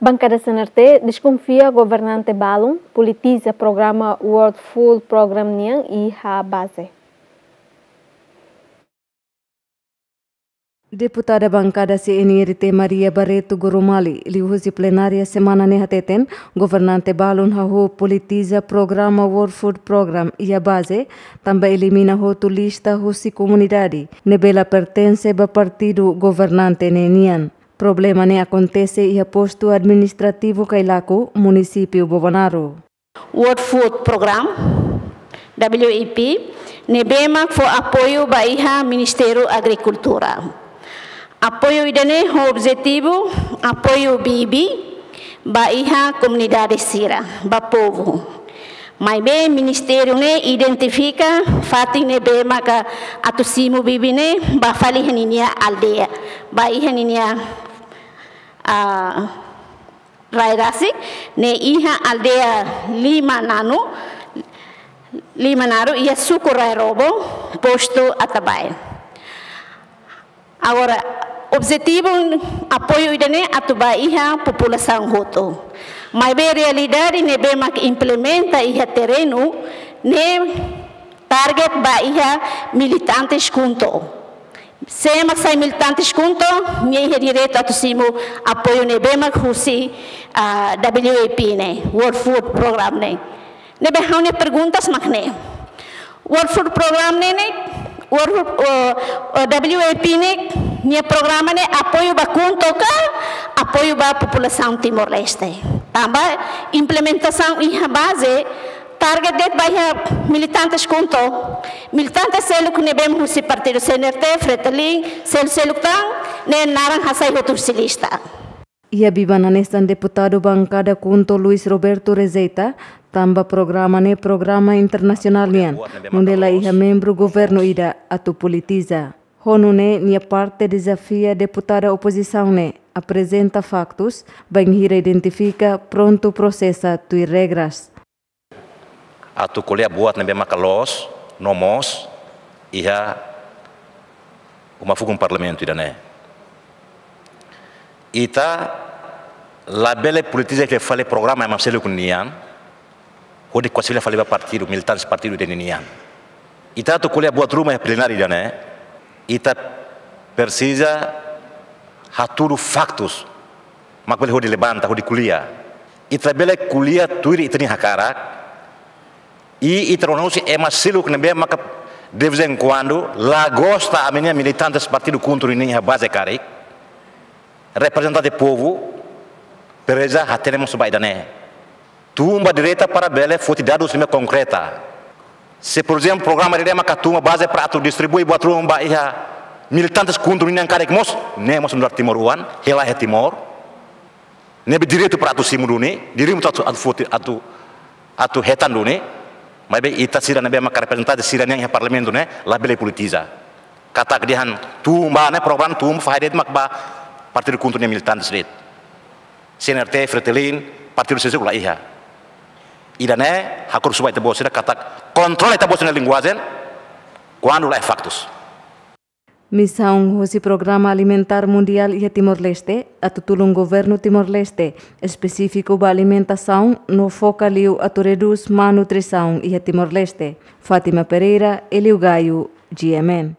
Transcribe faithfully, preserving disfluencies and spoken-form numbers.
Bankada C N R T deskonfia governante balun politiza programa World Food Program nian iha baze. Deputada bankada C N R T Maria Barreto Goromali, liuhusi plenária semana ne'e hateten, governante balun hahú politiza programa World Food Program iha baze, tanba elimina hotu lista husi komunidade ne'ebé la pertense ba partidu governante ne'e nian. Problema ne'e akontese iha postu administrativu Cailaco, munisípiu Bobonaro. World Food Program, W F P, ne'ebé mak fó apoiu ba iha Ministériu Agrikultura. Apoiu ida-ne'e ho objetivu apoiu bibi ba iha komunidade sira, ba povu. Maibé ministériu ne'e identifika fatin ne'ebé maka atu simu bibi ne'e ba fali iha ninia aldeia, ba iha ninia, ah, rai rasik, ne'e iha aldeia Lima Nanu, Lima Naru, iha suku Rai Robo, postu Atabae. Agora, objetivu apoiu ida-ne'e atu ba iha populasaun hotu. Maibé realidade ne'ebé mak implementa iha terrenu ne'e target ba iha militantes KHUNTO. Sé mak sai militantes KHUNTO, nia iha direitu atu simu apoiu ne'ebé mak husi, ah, W F P ne'e, World Food Program ne'e. Ne'ebé ha'u-nia perguntas mak ne'e. World Food Program ne'e ne'e, World Food, oh, oh, W F P ne'e, nia programa ne'e apoiu ba KHUNTO ka, apoiu ba populasaun Timor-Leste. Tanba implementasaun iha baze, target de'it ba iha militantes KHUNTO. Militantes seluk ne'ebé husi partidu C N R T, Fretilin, sel-, seluk tan, ne'e naran hasai hotu husi lista. Iha biban hanesan deputadu bankada KHUNTO Luis Roberto rejeita, tanba programa ne'e programa internasionál nian, nune'e la iha membru governu ida atu politiza. Ho nune'e nia parte dezafia deputada opozisaun ne'e aprezenta faktus, bainhira identifika prontu prosesa tuir regras. Atu ko'alia buat ne'ebé maka loos, no moos, iha uma fukun parlamentu ida-ne'e. Ita labele politiza fila fali programa ema seluk nian, hodi kuasi fila fali ba partidu, militantes partidu ida-ne'e nian. Ita atu ko'alia buat ruma iha plenária ida-ne'e, ita presiza hatudu faktus, mak bele hodi levanta, hodi ko'alia. Ita bele ko'alia tuir ita-nia hakarak. I ita rona husi ema seluk ne'ebé maka de vez em quando la gosta ami-nia militantes partidu KHUNTO nian iha baze karik. Reprezentante povu, presiza hatene mós ba ida-ne'e. Tun ba direta para bele foti dadus ne'ebé konkreta. Se, por ezemplu, programa ida-ne'e maka tun ba baze para atu distribui buat ruma ba iha militantes KHUNTO nian karik mós, ne'e mós nu'udar timoroan, hela iha Timor. Ne'ebé direitu para atu simu duni, direitu atu, atu foti, atu, atu hetan duni. Maibé ita sira ne'ebé maka reprezentante sira nian iha parlamentu ne'e, labele politiza. Katak dehan tun ba ne'e programa tun ba fahe de'it mak ba partidu KHUNTO nia militantes de'it. C N R T, Fretilin, partidu sira seluk la iha. Ida-ne'e, ha'u husu ba ita-boot sira katak kontrola ita-boot sira-nia linguajen, kuandu la iha faktus. Misaun husi Programa Alimentár Mundiál iha Timor-Leste, atu tulun governu Timor-Leste, espesífiku ba alimentasaun, no foka liu atu redús malnutrisaun iha Timor-Leste. Fátima Pereira, Hélio Gaio, G M N.